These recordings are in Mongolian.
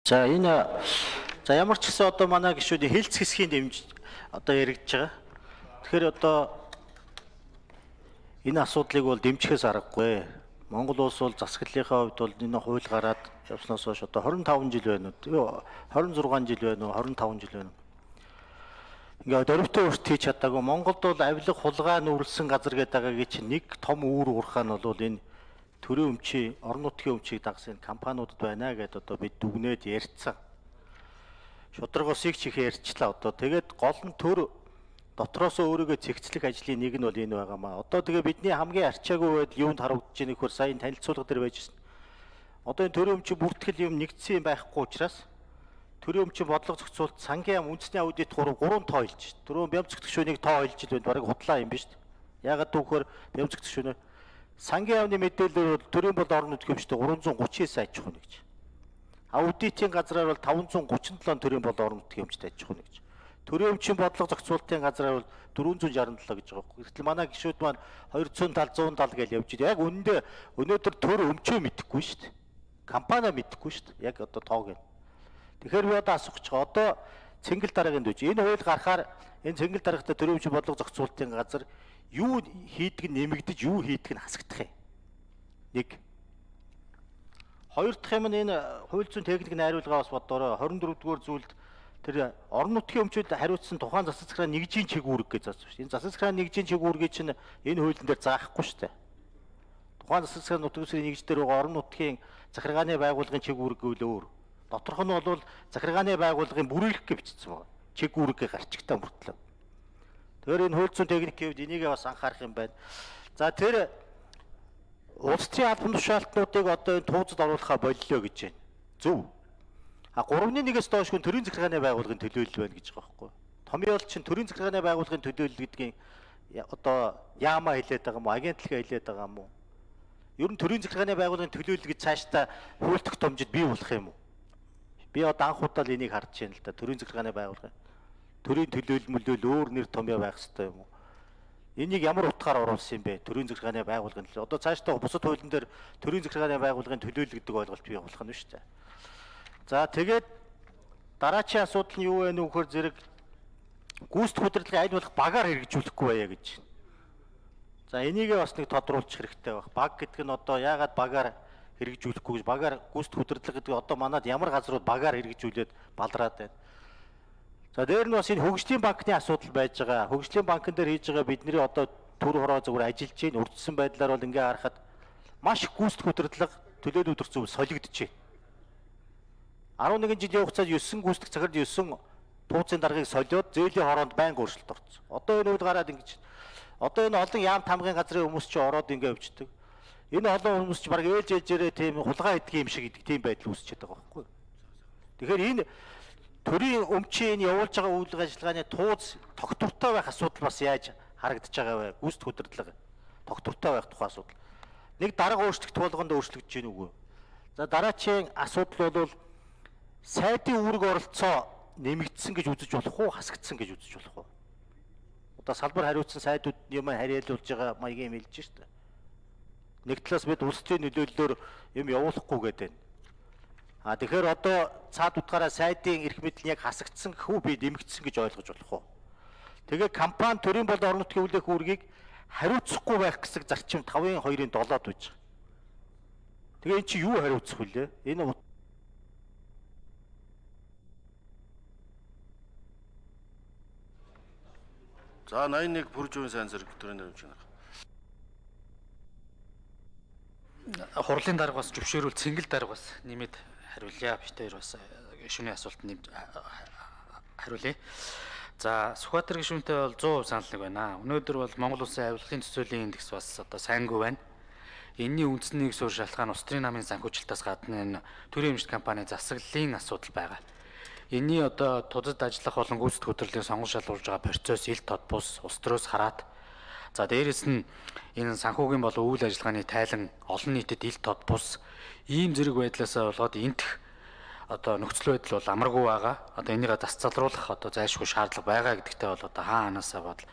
За энэ ямар ч гэсэн одоо манай гишүүдийн хэлц хэсгийн дэмж одоо яригдж байгаа. Тэгэхээр одоо энэ асуудлыг бол дэмжихээс аргагүй. Монгол улс бол засаглалынхаа хувьд бол энэ хууль гараад явснаас хойш одоо 25 жил байна уу? 26 жил байна уу? 25 жил байна уу? Ингээд дөрөвтөө өрт хийж чадаагүй. Монголд бол авилга хулгай нүүрлсэн газар гэдэг байгаагийн чинь нэг том үүр урхаа нь бол энэ төрийн өмчийн орон нутгийн өмчийг дагсан компаниудад байна гэдээ одоо бид дүгнээд ярьцсан. Шударгосыг чих ярьчлаа одоо. Тэгээд гол нь төр дотроос өөрийгөө цэгцлэх ажлын нэг нь бол энэ байгаамаа. Одоо тэгээ бидний хамгийн арчаагүй байдал юунд харагдаж байгааг нөхөр сайн танилцуулга дээр байжсэн. Одоо энэ төрийн өмчийн бүртгэл юм нэгдсэн юм байхгүй учраас төрийн өмчийн бодлого зохицуулалт сангийн яам үндэсний аудит 3 тоо хэлж. Түрүүн бямцгт гүшүүнийг тоо хэлж байна. Бараг худлаа юм биш үү? Яагаад түүхээр бямцгт гүшүүнээ сангийн яамны мэдээлэлээр төрийн бол орон нутгийн өмчтэй 339 аж ахуй нэгж. Аудитын газраар бол 537 төрийн бол орон нутгийн өмчтэй аж ахуй нэгж. Төрийн өмчийн бодлого зохицуулалтын газраар бол 467 гэж байгаа юм. Гэтэл манай гишүүд маань 270 170 гэж явж байгаа. Яг үнэндээ өнөөдөр төр өмчөө мэдэхгүй шүү дээ. Компани мэдэхгүй шүү дээ. Яг одоо тоог нь. Тэгэхээр би одоо асуух гэж байгаа. Одоо цэнгэл дараагийн дүүж. Энэ хууль гарахаар энэ цэнгэл дараагтай төрийн өмчийн бодлого зохицуулалтын газар юу хийдэг нь нэмэгдэж, юу хийдэг нь хасагдах юм. Нэг. Хоёр дахь юм нь энэ хууль зүйн техник найруулга бас бодоорой. 24 дугаар зүйлд тэр орон нутгийн өмчөд хариуцсан тухайн засаг захиргааны нэгжийн чигүүрэг гэж заасан шүү дээ. Энэ засаг захиргааны нэгжийн чигүүргийг чинь энэ хуулийн дээр заахгүй шүү дээ. Тухайн засаг захиргааны нутгийн нэгж дээр байгаа орон нутгийн захиргааны байгууллагын чигүүрэг гэвэл өөр. Доторх нь бол захиргааны байгууллагын бүрэлдэх гэж бичсэн байна. Чигүүрэг гарчигтай мөртлөө. Тэгэхээр энэ хууль зүйн техникийн хувьд энийг бас анхаарах юм байна. За тэр улс төрийн албан тушаалтнуудыг одоо энэ тууцад оруулахаа боллоо гэж байна. Зөв. А 3-1-ээс доош хүн төрийн захиргааны байгууллагын төлөөлөл байна гэж байгаа байхгүй. Томьёол чинь төрийн захиргааны байгууллагын төлөөлөл гэдгийг одоо яамаа хэлээд байгаа юм уу? Агентлагаа хэлээд байгаа юм уу? Ер нь төрийн захиргааны байгууллагын төлөөлөл гэж цаашдаа хууль тогтоомжид бий болох юм уу? Би одоо анх удаа л энийг харж байна л да. Төрийн захиргааны байгууллагын төрийн төлөөлөл мөлөөл өөр нэр томьёо байх хэрэгтэй юм уу? Энийг ямар утгаар оруулсан юм бэ? Төрийн захиргааны байгууллагын төлөөлөл. Одоо цаашдаа бусад хуулийн дээр төрийн захиргааны байгууллагын төлөөлөл гэдэг ойлголт бий болох нь шүү дээ. За тэгээд дараачийн асуудал нь юу вэ нөхөр зэрэг гүйцэтгэх удирдлагын аль болох багаар хэрэгжүүлэхгүй байя гэж. За энийгээ бас нэг тодруулах хэрэгтэй байх. Баг гэдэг нь одоо яагаад багаар хэрэгжүүлэхгүй гэж багаар гүйцэтгэх удирдлага гэдэг одоо манад ямар газрууд багаар хэрэгжүүлээд балраад байна. За дээр нь бас энэ хөгжлийн банкны асуудал байж байгаа. Хөгжлийн банкн дээр хийж байгаа бидний одоо төр хороо зөвөр ажиллаж байна. Урдсан байдлаар бол ингээ харахад маш их гүйцэтгэх удирдлага төлөөлөл өдөрцөв солигдож байна. 11 жилийн хугацаанд 9 гүйцэтгэх цагт 9 тууцын даргаыг солиод зээлийн хороонд байнга өөрчлөлт орсон. Одоо энэ үед гараад ингэж одоо энэ олон яам тамгын газрын хүмүүс чи ороод ингээ өвчдөг. Энэ олон хүмүүс чи баг ээлж ээлжээрээ тийм хулгай идэх юм шиг гэдэг тийм байдал үүсчихэд байгаа байхгүй. Тэгэхээр энэ төрийн өмчийн явуулж байгаа үйл ажиллагааны тууз тогтвортой байх асуудал бас яаж харагдаж байгаа вэ? Гүйцэтгэх удирдлага тогтвортой байх тухай асуудал. Нэг дарга өөрчлөлт болгонд өөрчлөгдөж гин үгүй. За дараачийн асуудал бол сайдын үүрэг оролцоо нэмэгдсэн гэж үзэж болох уу, хасагдсан гэж үзэж болох уу? Одоо салбар хариуцсан сайдууд юм хариалуулж байгаа маягийн хэлж шүү дээ. Нэг талаас бид улс төрийн нөлөөллөөр юм явуулахгүй гэдэг байна. А тэгэхээр одоо цаад утгаараа сайдын эрх мэдэл яг хасагдсан гэхүү би нэмэгдсэн гэж ойлгож болох уу? Тэгээ компани төрийн бол орон нутгийн хүлээх үүргийг хариуцахгүй байх гэсэн зарчим 5-2-ын 7-д байж байгаа. Тэгээ эн чи юу хариуцах вүлээ? Энэ За 81 Бүржүүн сайн зэрэг төрийн нэрмж байна. Хурлын дарга бас зөвшөөрөл цэнгэл дарга бас нэмээд хариулъя. Бид хоёр бас гишүүний асуулт нэмж хариулъя. За Сүхбаатар гишүүнтэй бол 100% санал нэг байна. Өнөөдөр бол Монгол Улсын авилгын төсөөлийн индекс бас одоо сайнгүй байна. Энэний үндсний суурь шалтгаан улс төрийн намын санхүүжилтээс гадна энэ төрийн эмчит компани засаглалын асуудал байгаа. Энэний одоо тузад ажиллах болон гүйцэтгэх удирдлагын сонгон шалгуулж байгаа процесс ил тод бус улс төрөөс хараад за дээрэс нь энэ санхүүгийн болон үйл ажиллагааны тайлан олон нийтэд ил тод бус ийм зэрэг байдлаасаа болоод энтх одоо нөхцөл байдал бол амаргүй байгаа. Одоо энийг засцалруулах одоо зайлшгүй шаардлага байгаа гэдэгтээ бол одоо хаа ханаасаа бодол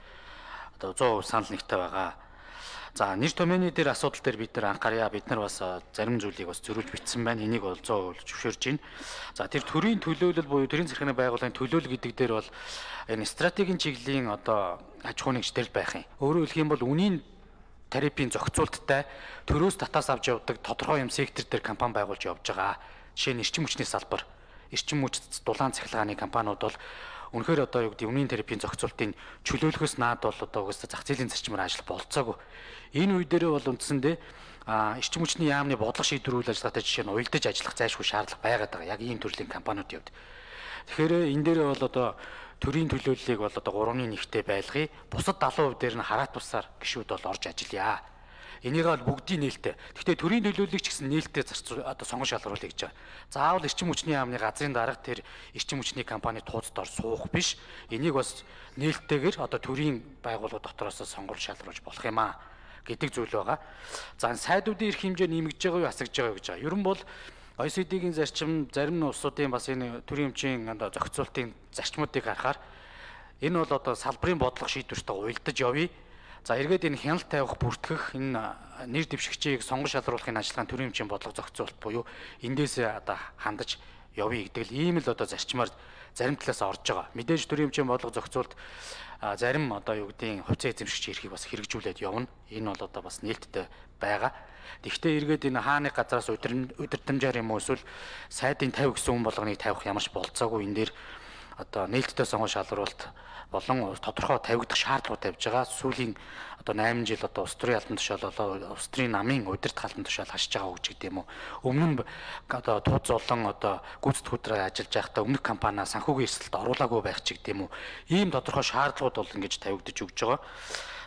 одоо 100% санал нэгтэй байгаа. За нэр томьёоны дээр асуудал дээр бид нар анхаарья. Бид нар бас зарим зүйлийг бас зөрүүлж бичсэн байна. Энийг бол 100% зөвшөөрж байна. За тэр төрийн төлөөлөл буюу төрийн захиргааны байгууллагын төлөөлөл гэдэг дээр бол энэ стратегийн чиглэлийн одоо аж ахуйн нэгжтэй байх юм. Өөрөөр хэлэх юм бол үнийн тарифын зохицуулттай төрөөс татаас авч явдаг тодорхой юм сектор дээр компани байгуулж явж байгаа. Жишээ нь эрчим хүчний салбар, эрчим хүч дулаан цахилгааны компаниуд бол үнэхээр одоо юу гэдэг үнийн тарифын зохицуултын чөлөөлөхөөс наад бол одоо угаасаа зах зээлийн зарчмаар ажиллах болцоогүй. Энэ үе дээрээ бол үндсэндээ эрчим хүчний яамны бодлого шийдвэр үйл ажиллагаатай жишээ нь уялдаж ажиллах зайлшгүй шаардлага байгаад байгаа. Яг ийм төрлийн компаниуд явд. Тэгэхээр энэ дээрээ бол одоо төрийн төлөөллийг бол одоо 3-1-тэй байлгая. Бусад 70% дээр нь хараат тусаар гишүүд бол орж ажиллая. Энийг бол бүгдийн нээлттэй. Гэхдээ төрийн төлөөллийг ч гэсэн нээлттэй одоо сонгон шалгаруулъя гэж байгаа. Заавал эрчим хүчний яамны газрын дарга тэр эрчим хүчний компани тууцдоор суух биш. Энийг бас нээлттэйгээр одоо төрийн байгууллага дотроос сонгон шалгаруулж болох юм аа гэдэг зүйл байгаа. За сайдуудын эрх хэмжээ нэмэгдэж байгаа юу асагж байгаа юу гэж байгаа. Ер нь бол OECD-ийн зарчим зарим улсуудын бас энэ төрийн өмчийн одоо зохицуултын зарчмуудыг харахаар энэ бол одоо салбарын бодлого шийдвэртэй уялдаж явъя. За эргээд энэ хяналт тавих бүртгэх энэ нэр дэвшигчийг сонгон шалгаруулахын ажиллагааны төрийн өмчийн бодлого зохицуулалт буюу эндээсээ одоо хандаж явъя гэдэг л ийм л одоо зарчмаар зарим талаас орж байгаа. Мэдээж төрийн өмчийн бодлого зохицуулалт зарим одоо юу гэдгийг хувьцаа эзэмшигч эрхийг бас хэрэгжүүлээд явна. Энэ бол одоо бас нээлттэй байгаа. Тэгэхдээ эргээд энэ хааны газраас удирдамжаар юм уу эсвэл сайдын 50 гэсэн хүн болгоныг тавих ямарч болцоогүй энэ дээр одоо нээлттэй сонгон шалгаруулалт болон тодорхой тавигдах шаардлага тавьж байгаа. Сүүлийн одоо 8 жил одоо улс төрийн албан тушаал болоо улс төрийн намын удирдах албан тушаал хашиж байгаа үг гэдэг юм уу. Өмнө нь одоо тууз болон одоо гүйцэтгэх хөдрөөр ажиллаж байхдаа өмнөх компаниа санхүүгийн эрсдэлд оруулаагүй байх ч гэдэг юм уу. Ийм тодорхой шаардлагууд бол ингэж тавигдаж өгж байгаа.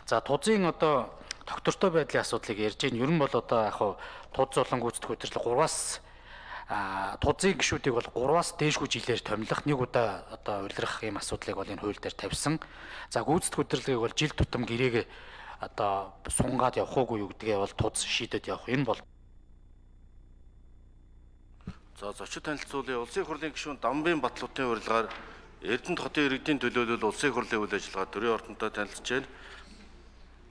За тузын одоо доктортой байдлын асуудлыг ярьж байна. Ер нь бол одоо яг хуу тууз болон гүйцэтгэх хөдрөл 3-аас тузын гишүүдийг бол 3-аас дээшгүй жилээр томилох нэг удаа одоо улирах ийм асуудлыг бол энэ хууль дээр тавьсан. За гүйцэтгэх хөдөлгөөг бол жил тутам гэрээгээ одоо сунгаад явах уугүй юу гэдгээ бол туз шийдэд явах. Энэ бол За зочид танилцуулъя. Улсын их хурлын гишүүн Дамбын Батлуудын урилгаар Эрдэнэт хотын иргэдийн төлөөлөл улсын их хурлын үйл ажиллагаа төрийн ордонтой танилцж байна.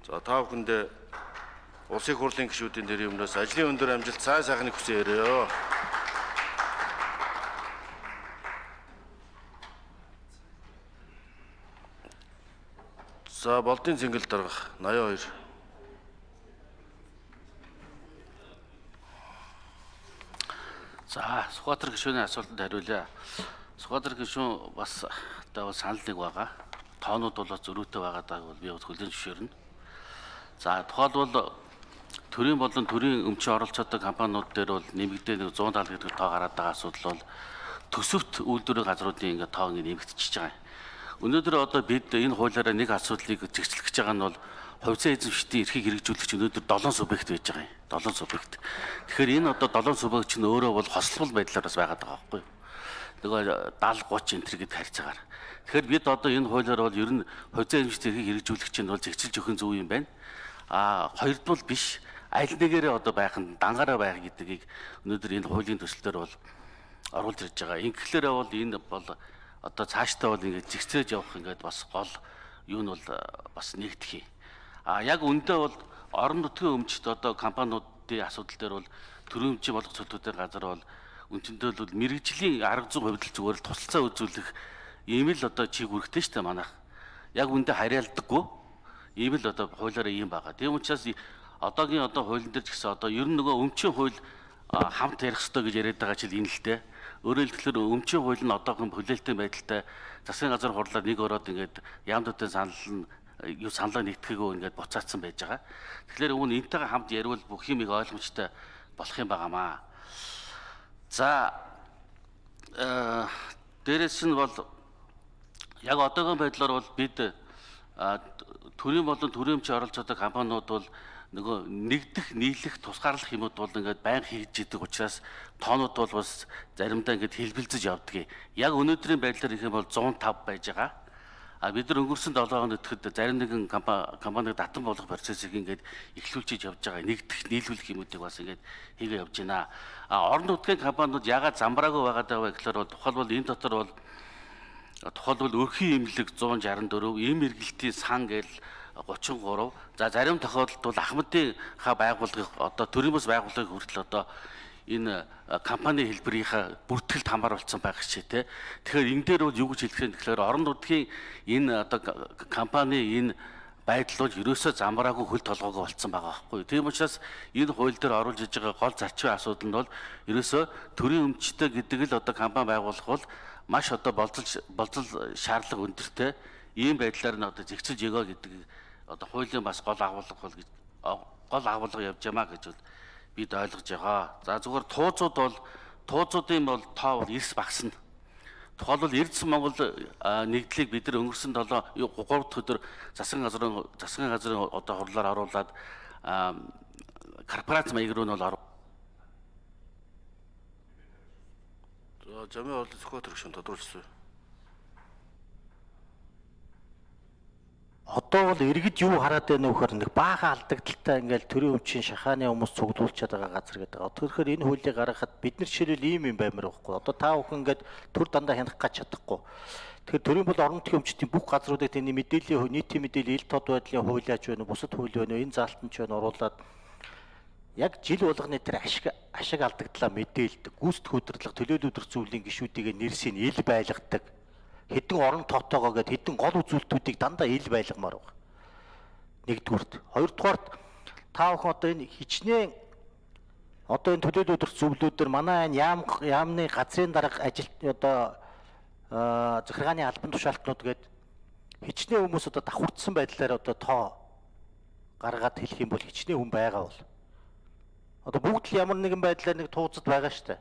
За та бүхэндээ улсын их хурлын гишүүдийн нэрийн өмнөөс ажлын өндөр амжилт цай сайхныг хүсье. За болдын цэнгэл дарга 82. За Сүхбаатар гишүүний асуултанд хариулъя. Сүхбаатар гишүүн бас одоо санал нэг байгаа. Тоонууд бол зөрүүтэй байгааг бол би хүлээн зөвшөөрнө. За тухайлбал төрийн болон төрийн өмчийн оролцоотой компаниуд дээр бол нэмэгдээ 170 гэдэг тоо гараад байгаа асуудал бол төсөвт үйлдвэрийн газруудын ингээ тоо ингээ нэмэгдчихэж байгаа юм. Өнөөдөр одоо бид энэ хуулиараа нэг асуудлыг зэгцлэх гэж байгаа нь бол хувьцаа эзэмшигчдийн эрхийг хэрэгжүүлэгч өнөөдөр 7 субъект байж байгаа юм. 7 субъект. Тэгэхээр энэ одоо 7 субъект чинь өөрөө бол хослол байдлаар бас байгаад байгаа байхгүй юу? Нөгөө 70 30 энэ гэд харьцаагаар. Тэгэхээр бид одоо энэ хуулиар бол ер нь хувьцаа эзэмшигчдийн эрхийг хэрэгжүүлэгч нь бол зэгцэлж өгөх зөв юм байна. Хоёрдуул биш аль нэгээрээ одоо байх нь дангаараа байх гэдгийг өнөөдөр энэ хуулийн төслөөр бол оруулж ирж байгаа. Ингээхээр бол энэ бол одоо цаашдаа бол ингээд зэгцээж явах ингээд бас гол юу нь бол бас нэгдэх юм. Яг үндэ бол орон нутгийн өмчт одоо компаниудын асуудал дээр бол төрийн өмчийн боловсролтуудын газар бол үндсэндээ бол мэрэгжлийн арга зүй хувьд зүгээр л тусалцаа үзүүлэх ийм л одоо чиг үүрэгтэй шүү дээ манайх. Яг үндэ харьяалдаггүй ийм л одоо хуулиараа ийм байгаа. Тийм учраас одоогийн одоо хуулийн дээр ч гэсэн одоо ер нь нөгөө өмчийн хууль хамт ярих ёстой гэж яриад байгаа чил энэ л дээ. Өөрөөр хэлбэл өмчийн хууль нь одоогийн хүлээлттэй байдалтай засгийн газар хурлаар нэг ороод ингээд яамдуудын саналаа нэгтгээгөө ингээд буцаацсан байж байгаа. Тэгэхээр үүн энтэйгээ хамт ярил бүх юм их ойлгомжтой болох юм байнамаа. За дээрэс нь бол яг одоогийн байдлаар бол бид төрийн болон төрийн өмчийн оролцоотой компаниуд бол нөгөө нэгдэх нийлэх тусгаарлах юмуд бол ингээд байн хийж идэг учраас тоонууд бол бас заримдаа ингээд хэлбэлзэж явдаг. Яг өнөөдрийн байдлаар их юм бол 105 байж байгаа. Бид нар өнгөрсөн 7 хоногт ихэд зарим нэгэн компаниг татан болгох процессыг ингээд эхлүүлчихэж явж байгаа. Нэгдэх нийлүүлэх юмуудыг бас ингээд хийгээ явж байна. Орон нутгийн компаниуд ягаад замбраагүй байгаад байгаа гэхээр бол тухайлбал энэ дотор бол өрхийн имлэг 164, эм эргэлтийн сан гээл 33. За зарим тохиолдолд бол Ахмадын ха байгууллагыг одоо төрийн бас байгууллагыг хүртэл одоо энэ компани хэлбэрийнхаа бүртгэлд хамааруулсан байх шээ те. Тэгэхээр энэ дээр бол юу гэж хэлэх юм тэгэхээр орон нутгийн энэ одоо компани энэ байдал бол ерөөсөө замбраагүй хөл толгоогоо болцсон байгаа байхгүй. Тийм учраас энэ хууль дээр оруулж иж байгаа гол зарчмын асуудал нь бол ерөөсөө төрийн өмчтэй гэдэг л одоо компани байгуулах бол маш одоо болцол шаардлага өндөртэй ийм байдлаар нь одоо зэгцэж өгөө гэдэг одоо хуулийн бас гол агуулга бол гэж гол агуулга явж ямаа гэж бол бид ойлгож байгаа. За зүгээр тууцуудын бол тоо бол эрс багасна. Тухайлбал Эрдэнэс Монгол нэгдлийг бид нар өнгөрсөн 3 дахь өдөр засгийн газрын одоо хурлаар оруулаад корпорац маяг руу нь бол Замын орлын зохиол төрөгшөнд тодруулсан. Одоо бол иргэд юу хараад байна вэ гэхээр нэг баахан алдагдaltaй ингээл төрийн өмчийн шахааны хүмүүс цуглуулчаад байгаа газар гэдэг. Тэгэхээр энэ хуулийг гаргахад бид нар жишээлбэл ийм юм баймар байхгүй. Одоо та бүхэн ингээд төр дандаа хянах гэж чадахгүй. Тэгэхээр төрийн бол орон нутгийн өмчтийн бүх газруудад энэ мэдээллийн нийтийн мэдээллийн ил тод байдлын хуулиач байна уу, бусад хууль байна уу, энэ заалтан ч байна оруулаад яг жил болгоны тэр ашиг алдагдлаа мэдээлдэг, гүйцэтгэх удирдлага, төлөөлөл өдр зүйлийн гишүүдийг нэрсийн ил байлгадаг. Хэдэн орон тоотоогоо гээд хэдэн гол үзүүлэлтүүдийг дандаа ил байлгамаар байна. Нэгдүгürt. Хоёрдугаарт та бүхэн одоо энэ хичнээн одоо энэ төлөөлөл өдр зөвлөлүүдээр манай энэ яамны газрын дарга ажил одоо захиргааны албан тушаалтнууд гээд хичнээн хүмүүс одоо давхурдсан байдлаар одоо тоо гаргаад хэлэх юм бол хичнээн хүн байгаа бол. Одоо бүгд л ямар нэгэн байдлаар нэг тууцад байгаа шүү дээ.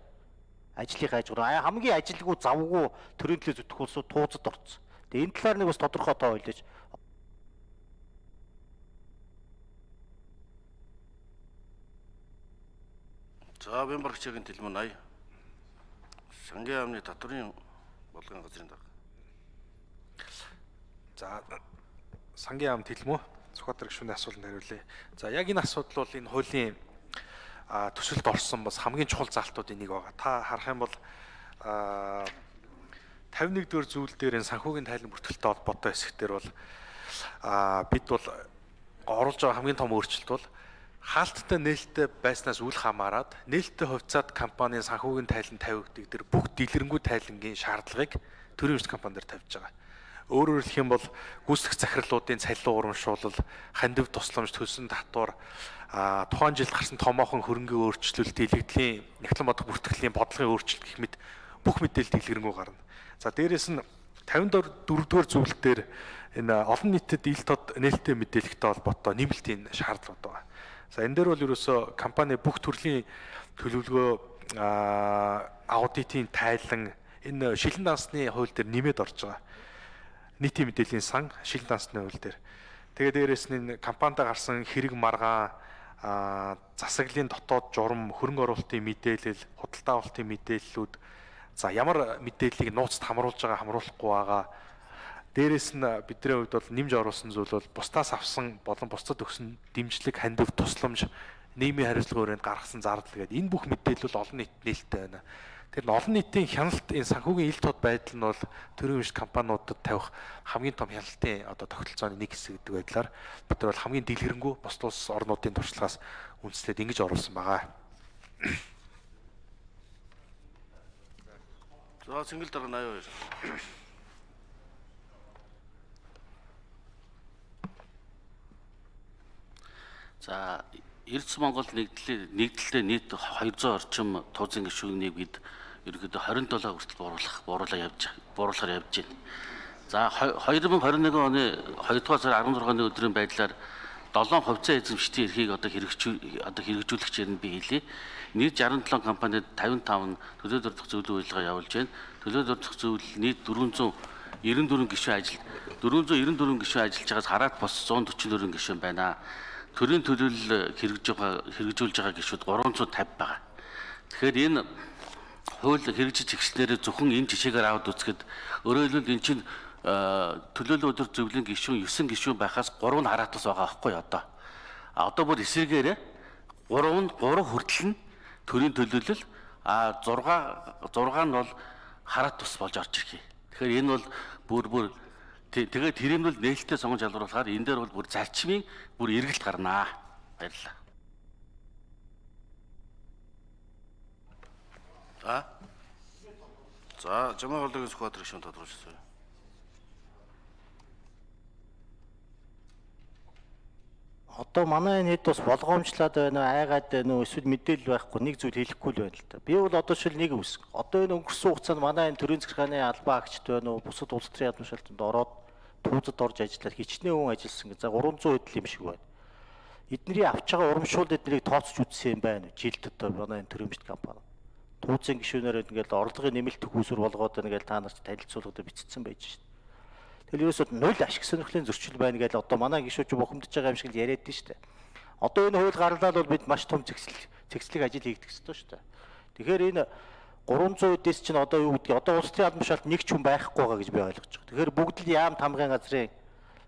Ажлын хажуугаар хамгийн ажилгүй завгүй төрийн төлөө зүтгэх улсууд тууцад орцсон. Тэгээ энэ талаар нэг бас тодорхой тоо ойлж. За Бямбаргчгийн тэлмэн 80. Сангийн яамны татврын болгон газрын дарга. За сангийн яам тэлмүү Сүхбаатар гишүүний асуултанд хариулъя. За яг энэ асуудал бол энэ хуулийн төсөлд орсон бас хамгийн чухал заалтуудын нэг байгаа. Та харах юм бол 51 дэх зүйл дээр энэ санхүүгийн тайлан бүртгэлтэй холбоотой хэсэг дээр бол бид бол оруулж байгаа хамгийн том өөрчлөлт бол хаалттай нээлттэй байснаас үл хамааран нээлттэй хувьцаат компанийн санхүүгийн тайлан тавигддаг дээр бүх дэлгэрэнгүй тайлангийн шаардлагыг төрийн өмч компани дээр тавьж байгаа. Өөрөөр хэлэх юм бол гүйцэтгэх захирлуудын цалин урамшуулал, хандив тусламж, төлсөн татвар, тухайн жилд гарсан томоохон хөрөнгөний өөрчлөлт, илэгдлийн нягтлан бодох бүртгэлийн бодлогын өөрчлөлт гэх мэт бүх мэдээлэл дэлгэрэнгүй гарна. За дээрэс нь 54-р зүйлээр энэ олон нийтэд ил тод нээлттэй мэдээлэлтэй холбоотой нэмэлтийн шаардлагууд байгаа. За энэ дээр бол ерөөсөө компани бүх төрлийн төлөвлөгөө, аудитын тайлан энэ шилэн дансны хууль дээр нэмээд орж байгаа. Нийтийн мэдээллийн сан шилэн дансны хууль дээр. Тэгээд дээрэс нь компанид гарсан хэрэг маргаан, засаглалын дотоод журам, хөрөнгө оруулалтын мэдээлэл, худалдаа авалтын мэдээллүүд, за ямар мэдээллийг нууцд хамруулж байгаа, хамруулахгүй байгаа. Дээрэс нь бидний хувьд бол нэмж оруулсан зүйл бол бусдаас авсан болон бусдад өгсөн дэмжлэг, хандив, тусламж, нийгмийн хариуцлага өрөөнд гаргасан зардал гэдэг энэ бүх мэдээлэл олон нийтэд нээлттэй байна. Тэр нь олон нийтийн хяналт энэ санхүүгийн ил тод байдал нь бол төрийн өмч компаниудад тавих хамгийн том хяналтын одоо тогтолцооны нэг хэсэг гэдэг байдлаар бид нар бол хамгийн дэлгэрэнгүй бусад улс орнуудын туршлагаас үндэслээд ингэж оруулсан байгаа. За цэнгэл дарга 82. За Эрдэнэс Монгол нэгдэлтэй нийт 200 орчим туузын гишүүнийг бид ерөнхийдөө 27 хүртэл бууруулахаар явж байна. За 2021 оны 2 дугаар сарын 16-ны өдрийн байдлаар 7 хувьцаа эзэмшигчдийн эрхийг одоо хэрэгжүүлэгчээр нь би хэлье. Нийт 67 компанид 55 төлөөлөл дурдах зөвлөлийн үйлчилгээ явуулж байна. Төлөөлөл дурдах зөвлөл нийт 494 гишүүн ажиллаж байгаас хараад бос 144 гишүүн байна. Төрийн төлөөлөл хэрэгжүүлж байгаа гишүүд 350 байгаа. Тэгэхээр энэ хууль хэрэгжиж эхлснээр зөвхөн энэ жишээгээр аваад үзэхэд өөрөөр хэлбэл эн чинь төлөөлөл өдөр зөвлөлийн гишүүн 9 гишүүн байхаас 3 нь хараатус байгаа байхгүй одоо. Одоо бүр эсрэгээр 3 хүртэл нь төрийн төлөөлөл 6 нь бол хараатус болж орж ирэх. Тэгэхээр энэ бол бүр Тэгээд тэр нь бол нээлттэй сонгож ялруулахаар энэ дээр бол бүр зарчмын бүр эргэлт гарнаа. Баярлалаа. За, Жамаа хоолойгийн Сүхбаатар гишүүн тодорхойлсон. Одоо манай энэ хэд бас болгоомжлаад байна уу, айгаад байна уу, эсвэл мэдээлэл байхгүй нэг зүйл хэлэхгүй л байна л да. Би бол одоо шил нэг үс. Одоо энэ өнгөрсөн хугацаанд манай энэ төрийн захиргааны албан агчд байна уу, бусад улс төрийн яамны шалтгаанд ороод түүзэд орж ажиллаад хичнээн хүн ажилласан гэж за 300 хэдл юм шиг байна. Эдний авч байгаа урамшуул эднийг тооцож үзсэн юм байна. Жилд одоо манай энэ төрийн бишт компани. Түүзэн гишүүнээр ингээл орлогын нэмэлт төхөөсөр болгоод ингээл та нарт танилцуулгад бичсэн байж шээ. Тэгэл ерөөсөө нуль ашиг сонирхлын зөрчил байна гэж одоо манай гишүүч бухимдаж байгаа юм шиг л яриад дээ шүү дээ. Одоо энэ хууль гарлаа бол бид маш том цэгцлэг ажил хийгдэх ёстой шүү дээ. Тэгэхээр энэ 300 эдээс чинь одоо юу гэдгийг одоо улс төрийн албан шалт нэг ч хүн байхгүй байгаа гэж би ойлгож байгаа. Тэгэхээр бүгд л яам тамгын газрын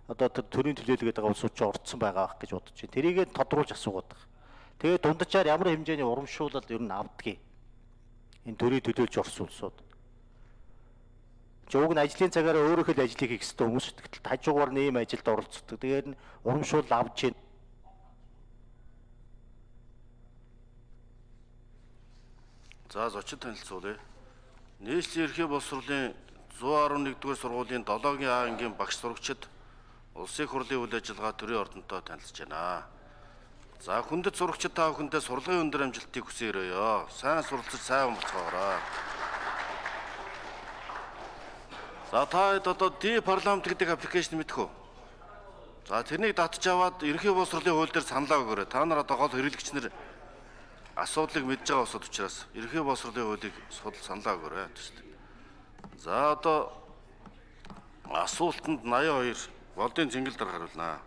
одоо төрийн төлөөлөгөд байгаа улсууд ч орцсон байгаа байх гэж бодож байна. Тэрийгээ тодруулж асуугаад байгаа. Тэгээд дунджаар ямар хэмжээний урамшуулал ер нь авдгийг энэ төрийн төлөөлж орсон улсууд. Уг нь ажлын цагаараа өөрөөх л ажлыг хийх ёстой хүмүүс тэгтэл хажуугаар нэм ажилд оролцдог. Тэгээд нь урамшуул авч байна. За зочид танилцуулъя. Нийслэлийн ерхий боловсруулалтын 111-р сургуулийн 7-гийн А ангийн багш сурагчид улсын хурлын үйл ажиллагаа төрийн ордонтой танилцж байна. За хүндэт сурагчид та бүхэндээ сурлагын өндөр амжилтыг хүсье өрөөё. Сайн суралцаж сайн боцгоорой. За та одоо D парламент гэдэг аппликейшн мэдэх үү? За тэрнийг татж аваад ерхий боловсруулалтын хууль дээр саналаа өгөөрэй. Та нар одоо гол хэрэглэгч нар асуудлыг мэдж байгаа усуд учраас ерхий боловсруулалтын хуулийг саналаа өгөөрэй. За одоо асуултанд 82 Болдын Цэнгэл дараа хариулнаа.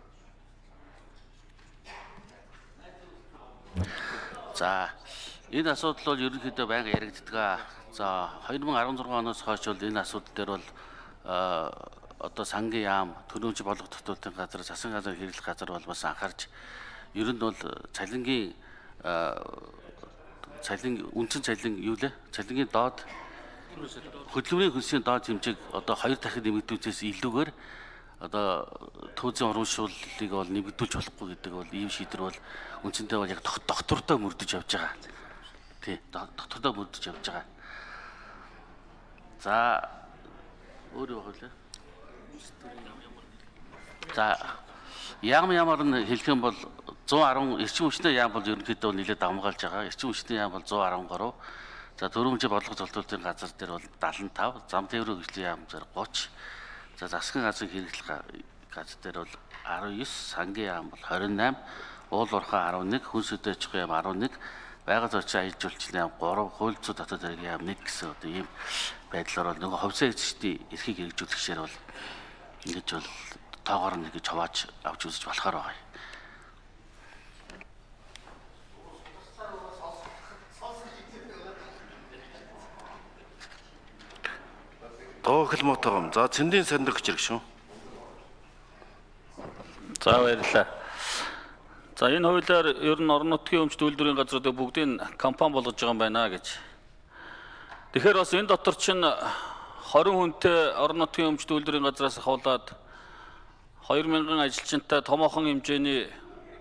За энэ асуудал бол ерөнхийдөө байнга яригддаг. За 2016 оноос хойш бол энэ асуудал дээр бол одоо сангийн яам, төлөмж болгох татварын газар, засгийн газар хэрэглэх газар бол бас анхаарч ер нь бол цалингийн үндсэн цалин юу лээ? Цалингийн доод хөдөлмөрийн хөлсийн доод хэмжээг одоо 2 дахин нэмэгдүүлсээс илүүгээр одоо түүзийн урамшууллыг бол нэмэгдүүлж болохгүй гэдэг бол ийм шийдвэр бол үндсэндээ бол яг доктортой мөрдөж явж байгаа. Тий, доктортой мөрдөж явж байгаа. За өөрөө хөлөө. За ямар нь хэлэх юм бол 110 эрчим хүчний яам бол ерөнхийдөө нэлээд давмгаалж байгаа. Эрчим хүчний яам бол 113. За төрөмжийн бодлого зохицуулалтын газар дээр бол 75, зам тээврийн хөгжлийн яам дээр 30. За засгийн газрын хэрэглэх газар дээр бол 19, сангийн яам бол 28, уул уурхай 11, хүнс хөдөөж яам 11, байгаль орчин аяж жуулчлалын яам 3, хууль зүйн дотоод хэргийн яам 1 гэсэн одоо ийм байдлаар бол нөгөө хувьсаа эзэгчдийн эрхийг хэрэгжүүлэхшээр бол ингэж бол тоогоор нь гэж хавааж авч үзэж болохоор байгаа юм. Тоохол мотогом. За цэндийн санддаг гэж шүү. За баярлалаа. За энэ хуулиар ер нь орон нутгийн өмчт үйлдвэрийн газруудыг бүгдийг компани болгож байгаа юм байна гэж. Тэгэхээр бас энэ дотор чинь 20 хүнтэй орон нутгийн өмчт үйлдвэрийн газраас хавуулаад 2000 ажилчинтай томоохон хэмжээний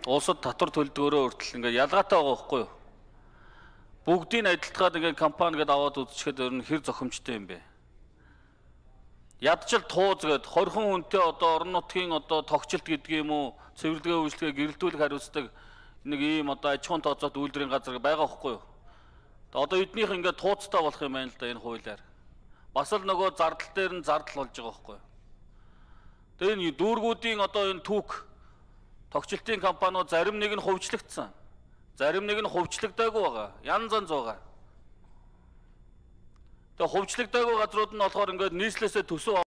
улсад татвар төлдгөөрөө хүртэл ингээд ялгаатай байгаа байхгүй юу? Бүгдийг адилтгаад ингээд компани гэдээ аваад үзчихэд ер нь хэр зохимжтой юм бэ? Ядчил тууз гээд 20 хүнтэй одоо орон нутгийн одоо тогтчлт гэдэг юм уу, цэвэрлэгээ үйлчлэгээ гэрэлтүүлэх хариуцдаг нэг ийм одоо аж ахуйн тооцоолт үйлдвэрийн газар байгаа байхгүй юу? Одоо эднийх ингээд тууцтай болох юм байна л да энэ хуулиар. Бас л нөгөө зардал дээр нь зардал болж байгаа байхгүй юу? Тэгээ энэ дүүргүүдийн одоо энэ түүх тогтчлтын компаниуд зарим нэг нь хувьчлагдсан. Зарим нэг нь хувьчлагдаагүй байгаа. Янз янз байгаа. Тэгээ хувьчлагдаагүй газрууд нь болохоор ингээд нийслэлээсээ төсөв